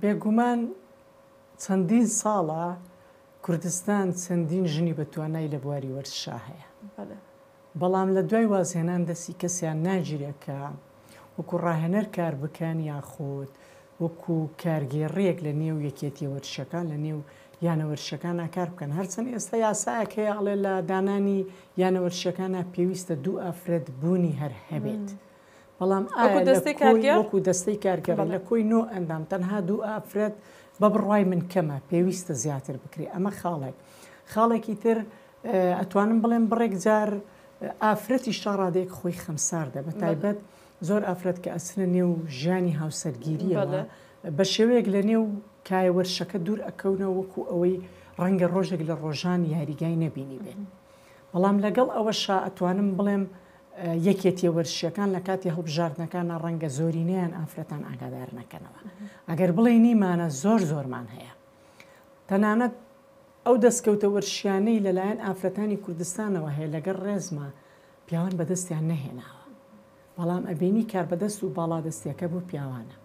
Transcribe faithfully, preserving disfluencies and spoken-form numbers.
بێگومان چەندین ساڵە کوردستان چەندین ژنی بە توانای لە بواری وەرزشا هەیە، بەڵام لە دوای وازهێنان دەستی کەسیان ناگیرێت کە وەکو ڕاهێنەر کار بکەن یاخود وەکو کارگێڕیەک لە نێو یەکێتی وەرزشەکان لە نێو یانە وەرزشەکانە کار بکەن. هەرچەند ئێستا یاسایەک هەیە ئەڵێ لە دانانی یانە وەرزشەکانە پێویستە دوو ئافرەت بوونی هەر هەبێت، بەڵام وەکو دەستەی کارگێڕی لە کۆی نۆ ئەندام تەنها دوو ئافرەت بە بڕوای من کەمە، پێویستە زیاتر بکرێ. ئەمە خاڵێک. خاڵێکی تر ئەتوانم بڵێم بڕێک جار ئافرەتیش تا ڕادەیەک خۆی خەمساردە، بە تایبەت زۆر ئافرەت کە ئەچنە نێو ژیانی هاوسەرگیریەوە بە شێوەیەک لە نێو کایە وەرشەکە دوور ئەکەونەوە وەکو ئەوەی ڕەنگە ڕۆژێک لە ڕۆژان یاریگای نەبینی بێت. بەڵام لەگەڵ ئەوەشا ئەتوانم بڵێم یەکێتیە وەرزشیەکان لە کاتی هەڵبژاردنەکانە ڕەنگە زۆرینەیان ئافرەتان ئاگادار نەکەنەوە. ئەگەر بڵێ نیمانە زۆر زۆرمان هەیە. تەنانەت ئەو دەستکەوتە وەرزشیانەی لەلایەن ئافرەتانی کوردستانەوە هەیە لەگەڵ ڕێزما پیاوان بەدەستیان نەهێناوە، بەڵام ئەبینی کاربەدەست و باڵادەستیەکە بۆ پیاوانە.